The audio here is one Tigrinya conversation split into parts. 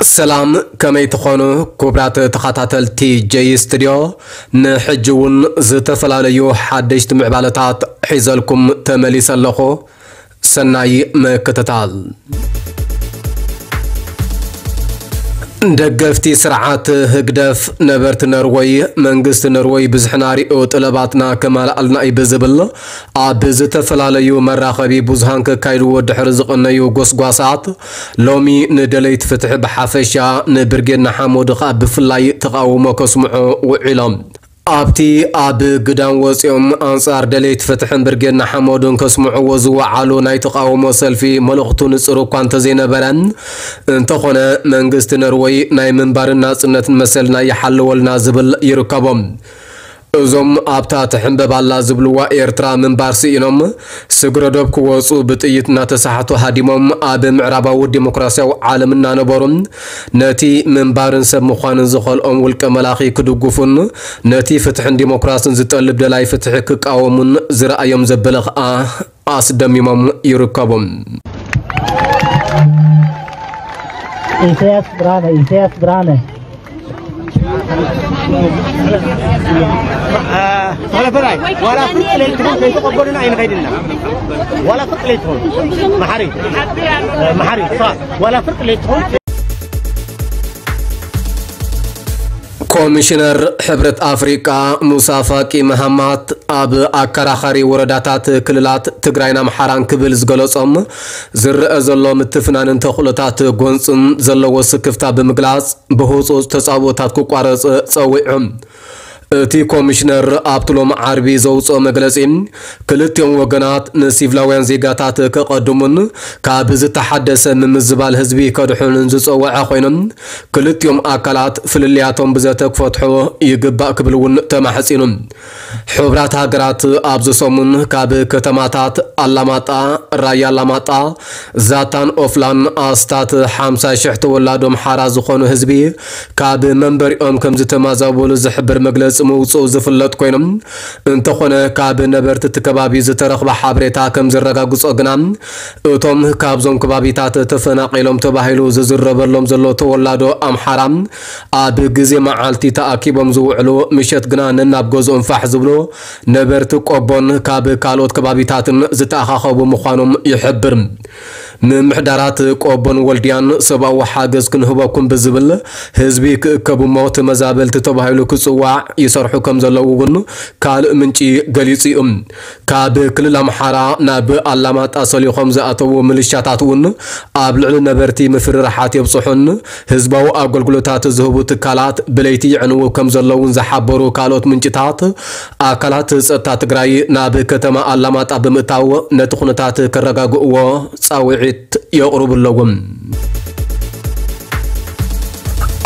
ሰላም፣ ከመይ ትኾኑ ክቡራት ተኸታተልቲ ጀይ ስቱድዮ? ንሕጂ እውን ዝተፈላለዩ ሓደሽቲ ምዕባለታት ሒዘልኩም ተመሊሰ ኣለኹ። ሰናይ ምክትታል። ደገፍቲ ስርዓት ህግደፍ፣ ነበርቲ ነርወይ፣ መንግስቲ ነርወይ ብዝሕና ሪኦ ጥለባትና ከማልኣልና እዩ ብዝብል ኣብ ዝተፈላለዩ መራኸቢ ብዙሃን ከካይድዎ ድሕሪ ዝቐነዩ ጎስጓሳት፣ ሎሚ ንደለይቲ ፍትሒ ብሓፈሻ፣ ንብርጌድ ንሓመዱ ኸኣ ብፍላይ ተቓውሞ ከስምዑ ውዒሎም። ኣብቲ ኣብ ግዳም ወጺኦም ኣንጻር ደለይቲ ፍትሕን ብርጌድ ንሓመዱን ከስምዕዎ ዝወዓሉ ናይ ተቓውሞ ሰልፊ መልእኽቱ ንጹር እኳ እንተዘይነበረ፣ እንተኾነ መንግስቲ ነርወይ ናይ ምንባርን ናጽነትን መሰልና ይሓልወልና ዝብል ይርከቦም። እዞም ኣብታ ትሕንበብ ኣላ ዝብልዋ ኤርትራ ምንባር ስኢኖም፣ ስግረ ዶብ ክወጹ ብጥይት እናተሳሕቱ ሃዲሞም፣ ኣብ ምዕራባዊ ዲሞክራሲያዊ ዓለም እናነበሩ፣ ነቲ ምንባርን ሰብ ምዃንን ዝኸልኦም ውልቀ መላኺ ክድግፉን፣ ነቲ ፍትሕን ዲሞክራስን ዝጠልብ ደላይ ፍትሒ ክቃወሙን ዝረኣዮም ዘበለ ኸኣ ኣስደሚሞም ይርከቡ። ኢሳያስ ብርሃነ፣ ኢሳያስ ብርሃነ። ተኸለፈላይ ዋላ ፍርቂ ለይትኹን ከይተቐበሉና ኣይንኸይድና። ዋላ ፍርቂ ለይትኹን መሓሪ፣ መሓሪ፣ ዋላ ፍርቂ ለይትኹን። ኮሚሽነር ሕብረት ኣፍሪቃ ሙሳ ፋቂ መሃማት ኣብ ኣከራኻሪ ወረዳታት ክልላት ትግራይን ኣምሓራን ክብል ዝገለጾም ዝረአ ዘሎ ምትፍናንን ተኽእሎታት ጎንጽን ዘለዎ ስክፍታ ብምግላጽ ብህጹጽ ተጻብኦታት ክቋረጽ ጸዊዑ። እቲ ኮሚሽነር ኣብቲ ሎሚ ዓርቢ ዘውጽኦ መግለጺ ክልቲኦም ወገናት ንሲቪላውያን ዜጋታት ከቐድሙን ካብ ዝተሓደሰ ምምዝባል ህዝቢ ከድሕኑን ዝጸወዐ ኮይኑ ክልቲኦም ኣካላት ፍልልያቶም ብዘተ ክፈትሑ ይግባእ ክብል እውን ተማሕጺኑ። ሕቡራት ሃገራት ኣብዚ ሰሙን ካብ ከተማታት ኣላማጣ፣ ራያ ኣላማጣ፣ ዛታን ኦፍላን ኣስታት ሓምሳ ሽሕ ተወላዶ ኣምሓራ ዝኾኑ ህዝቢ ካብ መንበሪኦም ከም ዝተማዛበሉ ዝሕብር መግለጺ ምውፅኡ ዝፍለጥ ኮይኑ፣ እንተኾነ ካብ ነበርቲ እቲ ከባቢ ዝተረኽበ ሓበሬታ ከም ዘረጋግጾ ግና እቶም ካብዞም ከባቢታት ተፈናቒሎም ተባሂሉ ዝዝረበሎም ዘሎ ተወላዶ ኣምሓራ ኣብ ግዜ መዓልቲ ተኣኪቦም ዝውዕሉ ምሸት ግና ነናብ ገዝኦም ፋሕ ዝብሉ ነበርቲ ቆቦን ካብ ካልኦት ከባቢታትን ዝተኣኻኸቡ ምዃኖም ይሕብር። ምምሕዳራት ቆቦን ወልድያን ሰብኣዊ ሓገዝ ክንህበኩም ብዝብል ህዝቢ ክእከቡ እሞ ተመዛበልቲ ተባሂሉ ክጽዋዕ ይሰርሑ ከም ዘለዉ እውን ካልእ ምንጪ ገሊጹ እዩ። ካብ ክልል ኣምሓራ ናብ ኣላማጣ ሰሊኾም ዝኣተዉ ምልሻታት እውን ኣብ ልዕሊ ነበርቲ ምፍርራሓት የብጽሑን ህዝባዊ ኣገልግሎታት ዝህቡ ትካላት ብለይቲ ይዕንዉ ከም ዘለዉን ዝሓበሩ ካልኦት ምንጭታት፣ ኣካላት ጸጥታ ትግራይ ናብ ከተማ ኣላማጣ ብምእታው ነቲ ኩነታት ከረጋግእዎ ጻውዒት የቕርቡ ኣለዉ።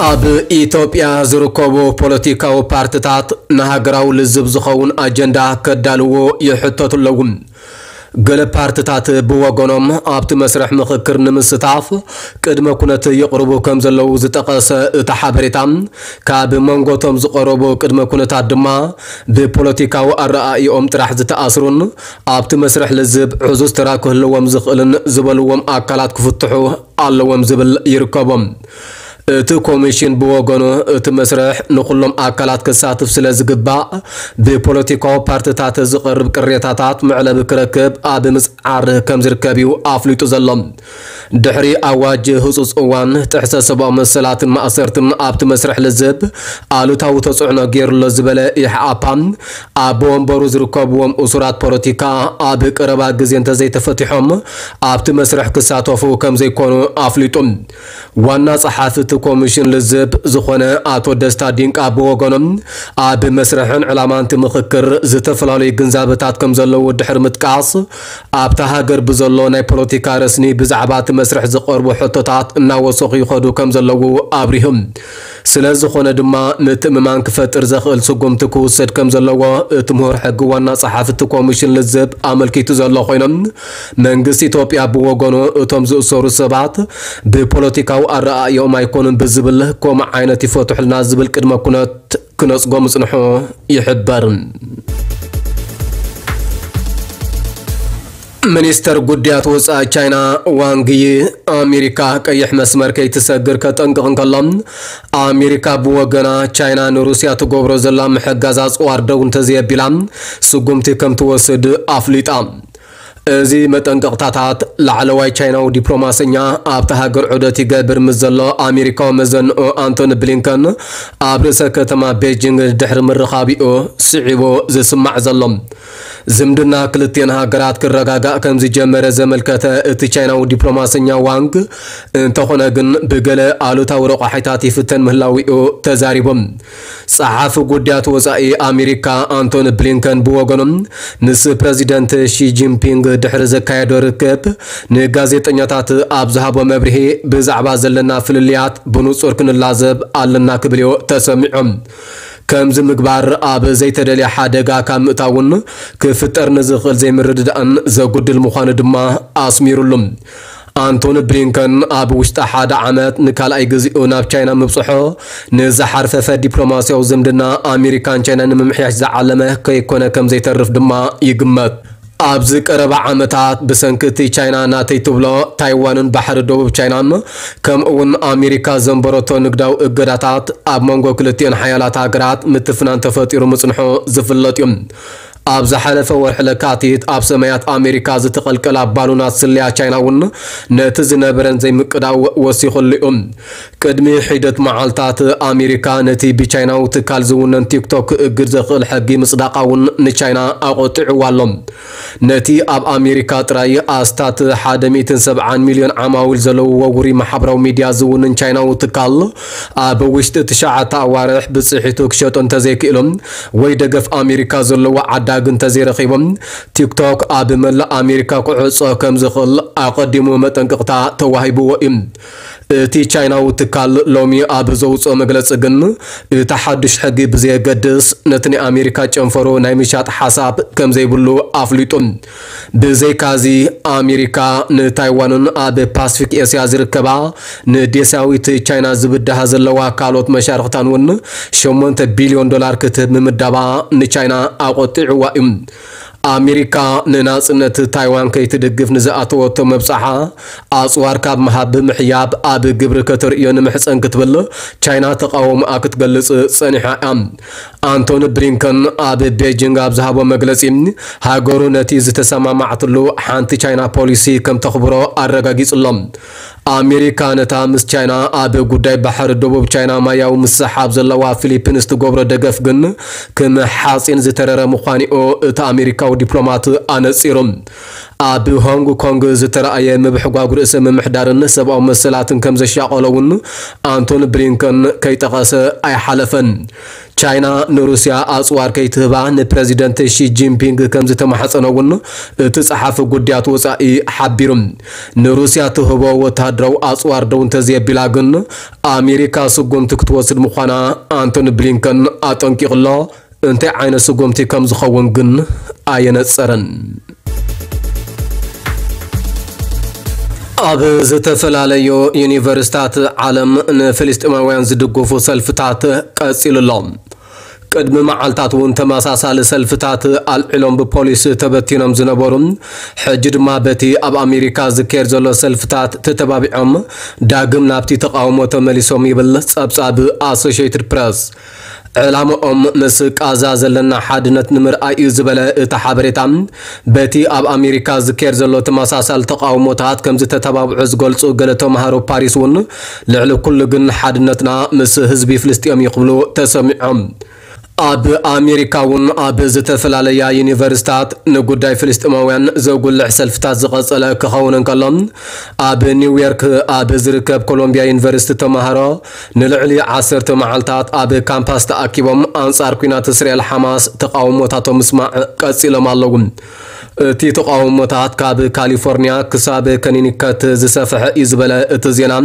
ኣብ ኢትዮጵያ ዝርከቡ ፖለቲካዊ ፓርትታት ንሃገራዊ ልዝብ ዝኸውን ኣጀንዳ ከዳልዉ ይሕተቱ ኣለዉ። ገለ ፓርትታት ብወገኖም ኣብቲ መስርሕ ምኽክር ንምስታፍ ቅድመ ኩነት የቕርቡ ከም ዘለዉ ዝጠቐሰ እቲ ሓበሬታ፣ ካብ መንጎቶም ዝቐረቡ ቅድመ ኩነታት ድማ ብፖለቲካዊ ኣረኣእይኦም ጥራሕ ዝተኣስሩን ኣብቲ መስርሕ ልዝብ ዕዙዝ ተራ ክህልዎም ዝኽእልን ዝበልዎም ኣካላት ክፍትሑ ኣለዎም ዝብል ይርከቦም። እቲ ኮሚሽን ብወገኑ እቲ መስርሕ ንኹሎም ኣካላት ከሳትፍ ስለ ዝግባእ ብፖለቲካዊ ፓርትታት ዝቐርብ ቅሬታታት መዕለቢ ክረክብ ኣብ ምጽዓር ከም ዝርከብ እዩ ኣፍሊጡ ዘሎ። ድሕሪ ኣዋጅ ህጹጽ እዋን ጥሕሰት ሰብኣዊ መሰላትን ማእሰርትን ኣብቲ መስርሕ ልዝብ ኣሉታዊ ተጽዕኖ ገይሩሎ ዝበለ ኢሕኣፓ ኣብ ወንበሩ ዝርከብዎም እሱራት ፖለቲካ ኣብ ቀረባ ግዜ እንተዘይተፈቲሖም ኣብቲ መስርሕ ክሳተፉ ከም ዘይኮኑ ኣፍሊጡ። ዋና ጸሓፊ እቲ ኮሚሽን ልዝብ ዝኾነ ኣቶ ደስታ ዲንቃ ብወገኖም ኣብ መስርሕን ዕላማን እቲ ምኽክር ዝተፈላለዩ ግንዛበታት ከም ዘለዉ ድሕሪ ምጥቃስ ኣብታ ሃገር ብዘሎ ናይ ፖለቲካ ረስኒ ብዛዕባ እቲ መስርሕ ዝቐርቡ ሕቶታት እናወሰኹ ይኸዱ ከም ዘለዉ ኣብሪሁ። ስለ ዝኾነ ድማ ምትእምማን ክፈጥር ዘኽእል ስጉምቲ ክውሰድ ከም ዘለዎ እቲ ምሁር ሕጊ ዋና ጸሓፊ እቲ ኮሚሽን ልዝብ ኣመልኪቱ ዘሎ ኮይኖም መንግስቲ ኢትዮጵያ ብወገኑ እቶም ዝእሰሩ ሰባት ብፖለቲካዊ ኣረኣእዮም ኣይኮኑን ብዝብል ከምኡ ዓይነት ይፈትሑልና ዝብል ቅድመ ኩነት ክነጽጎ ምጽንሑ ይሕበር። ሚኒስተር ጉዳያት ወጻኢ ቻይና ዋንግ ዪ፣ ኣሜሪካ ቀይሕ መስመር ከይትሰግር ከጠንቅቕ እንከሎ፣ ኣሜሪካ ብወገና ቻይና ንሩስያ ትገብሮ ዘላ ምሕጋዝ ኣጽዋር ደው እንተዘየቢላ ስጉምቲ ከም ትወስድ ኣፍሊጣ። እዚ መጠንቀቕታታት ላዕለዋይ ቻይናዊ ዲፕሎማሰኛ ኣብታ ሃገር ዑደት ይገብር ምስ ዘሎ ኣሜሪካዊ መዘንኡ ኣንቶኒ ብሊንከን ኣብ ርእሰ ከተማ ቤጂንግ ድሕሪ ምርኻቢኡ ስዒቡ ዝስማዕ ዘሎ። ዝምድና ክልቲኤን ሃገራት ክረጋጋእ ከም ዝጀመረ ዘመልከተ እቲ ቻይናዊ ዲፕሎማሰኛ ዋንግ፣ እንተኾነ ግን ብገለ ኣሉታዊ ረቋሒታት ይፍተን ምህላዊኡ ተዛሪቦም። ጸሓፊ ጉዳያት ወጻኢ ኣሜሪካ ኣንቶኒ ብሊንከን ብወገኑ፣ ምስ ፕረዚደንት ሺ ጂንፒንግ ድሕሪ ዘካየዶ ርክብ ንጋዜጠኛታት ኣብ ዝሃቦ መብርሂ፣ ብዛዕባ ዘለና ፍልልያት ብንጹር ክንላዘብ ኣለና ክብል እዩ ተሰሚዑ። ከምዚ ምግባር ኣብ ዘይተደልየ ሓደጋ ካብ ምእታውን ክፍጠር ንዝኽእል ዘይምርድዳእን ዘጉድል ምዃኑ ድማ ኣስሚሩሉ። ኣንቶኒ ብሊንከን ኣብ ውሽጢ ሓደ ዓመት ንካልኣይ ግዜኡ ናብ ቻይና ምብጽሖ፣ ንዝሓርፈፈ ዲፕሎማስያዊ ዝምድና ኣሜሪካን ቻይናን ንምምሕያሽ ዝዓለመ ከይኮነ ከም ዘይተርፍ ድማ ይግመት። ኣብዚ ቀረባ ዓመታት ብሰንኪ እቲ ቻይና ናተይ ትብሎ ታይዋንን ባሕሪ ደቡብ ቻይናን፣ ከምኡ እውን ኣሜሪካ ዘንበረቶ ንግዳዊ እገዳታት፣ ኣብ መንጎ ክልቲኤን ሓያላት ሃገራት ምትፍናን ተፈጢሩ ምጽንሑ ዝፍለጥ እዩ። ኣብ ዝሓለፈ ወርሒ ለካቲት ኣብ ሰማያት ኣሜሪካ ዝተቐልቀላ ባሉናት ስለያ ቻይና እውን ነቲ ዝነበረን ዘይምቅዳው ወሲኹሉ እዩ። ቅድሚ ሒደት መዓልታት ኣሜሪካ ነቲ ብቻይናዊ ትካል ዝውነን ቲክቶክ ክእግድ ዘኽእል ሕጊ ምጽዳቓ እውን ንቻይና ኣቖጢዕዋ ኣሎ። ነቲ ኣብ ኣሜሪካ ጥራይ ኣስታት ሓደ ሚእትን ሰብዓን ሚልዮን ዓማዊል ዘለውዎ ውሩይ ማሕበራዊ ሚድያ ዝውንን ቻይናዊ ትካል፣ ኣብ ውሽጢ ትሽዓተ ኣዋርሕ ብጽሒቱ ክሸጦ እንተዘይክኢሉ ወይ ደገፍ ኣሜሪካ ዘለዎ ዓዳጊ እንተዘይረኺቡ፣ ቲክቶክ ኣብ መላእ ኣሜሪካ ክዕጾ ከም ዝኽእል ኣቐዲሙ መጠንቀቕታ ተዋሂብዎ እዩ። እቲ ቻይናዊ ትካል ሎሚ ኣብ ዘውጽኦ መግለጺ ግን፣ እቲ ሓድሽ ሕጊ ብዘየገድስ ነቲ ናይ ኣሜሪካ ጨንፈሩ ናይ ምሻጥ ሓሳብ ከም ዘይብሉ ኣፍሊጡ። ብዘይካዚ፣ ኣሜሪካ ንታይዋንን ኣብ ፓስፊክ ኤስያ ዝርከባ ንዴሳዊት ቻይና ዝብድሃ ዘለዋ ካልኦት መሻርኽታን እውን ሸሞንተ ቢልዮን ዶላር ክትህብ ምምዳባ ንቻይና ኣቖጢዕዋ እዩ። ኣሜሪካ ንናጽነት ታይዋን ከይትድግፍ ንዝኣተወቶ መብጻሓ፣ ኣጽዋር ካብ ምሃብ ብምሕያብ ኣብ ግብሪ ከተርእዮ ንምሕጸን ክትብል ቻይና ተቓውሞኣ ክትገልጽ ጸኒሓ እያ። ኣንቶኒ ብሊንከን ኣብ ቤጂንግ ኣብ ዝሃቦ መግለጺ፣ ሃገሩ ነቲ ዝተሰማማዕትሉ ሓንቲ ቻይና ፖሊሲ ከም ተኽብሮ ኣረጋጊጹ ኣሎ። ኣሜሪካ ነታ ምስ ቻይና ኣብ ጉዳይ ባሕሪ ደቡብ ቻይና ማያዊ ምስሕሓብ ዘለዋ ፊሊፒንስ ትገብሮ ደገፍ ግን ከም ሓጺን ዝተረረ ምዃኑ'ዩ እቲ ኣሜሪካዊ ዲፕሎማት ኣነጺሩ። ኣብ ሆንግ ኮንግ ዝተረኣየ ምብሕጓግ ርእሰ ምምሕዳርን ሰብኣዊ መሰላትን ከም ዘሻቐሎ እውን ኣንቶኒ ብሊንከን ከይጠቐሰ ኣይሓለፈን። ቻይና ንሩስያ ኣጽዋር ከይትህባ ንፕረዚደንት ሺ ጂንፒንግ ከም ዝተማሕጸነ እውን እቲ ጸሓፊ ጉዳያት ወጻኢ ሓቢሩ። ንሩስያ ትህቦ ወተሃደራዊ ኣጽዋር ደው እንተዘየቢላ ግን ኣሜሪካ ስጉምቲ ክትወስድ ምዃና ኣንቶኒ ብሊንከን ኣጠንቂቑ ኣሎ። እንታይ ዓይነት ስጉምቲ ከም ዝኸውን ግን ኣየነጸረን። ኣብ ዝተፈላለዩ ዩኒቨርሲታት ዓለም ንፍልስጤማውያን ዝድግፉ ሰልፍታት ቀጺሉ ኣሎ። ቅድሚ መዓልታት እውን ተመሳሳሊ ሰልፍታት ኣልዒሎም ብፖሊስ ተበቲኖም ዝነበሩ፣ ሕጂ ድማ በቲ ኣብ ኣሜሪካ ዝካየድ ዘሎ ሰልፍታት ተተባቢዖም ዳግም ናብቲ ተቓውሞ ተመሊሶም ይብል ጸብጻብ ኣሶሽየትድ ፕረስ። ዕላምኦም ምስ ቃዛ ዘለና ሓድነት ንምርኣይ እዩ ዝበለ እቲ ሓበሬታ፣ በቲ ኣብ ኣሜሪካ ዝካየድ ዘሎ ተመሳሳሊ ተቓውሞታት ከም ዝተተባብዑ ዝገልጹ ገለ ተምሃሮ ፓሪስ እውን ልዕሊ ኩሉ ግን ሓድነትና ምስ ህዝቢ ፍልስጤም እዩ ክብሉ ተሰሚዖም። ኣብ ኣሜሪካ እውን ኣብ ዝተፈላለያ ዩኒቨርሲታት ንጉዳይ ፍልስጤማውያን ዘጉልሕ ሰልፍታት ዝቐጸለ ክኸውን እንከሎ፣ ኣብ ኒውዮርክ ኣብ ዝርከብ ኮሎምቢያ ዩኒቨርሲቲ ተምሃሮ ንልዕሊ ዓሰርተ መዓልታት ኣብ ካምፓስ ተኣኪቦም ኣንጻር ኲናት እስራኤል ሓማስ ተቓውሞታቶም ምስማዕ ቀጺሎም ኣለዉ። እቲ ተቓውሞታት ካብ ካሊፎርኒያ ክሳብ ከኒኒከት ዝሰፍሐ እዩ ዝበለ እቲ ዜና፣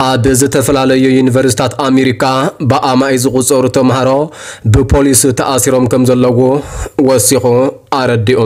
ኣብ ዝተፈላለዩ ዩኒቨርሲታት ኣሜሪካ ብኣማኢ ዝቑጸሩ ተምሃሮ ብፖሊስ ተኣሲሮም ከም ዘለዉ ወሲኹ ኣረዲኡ።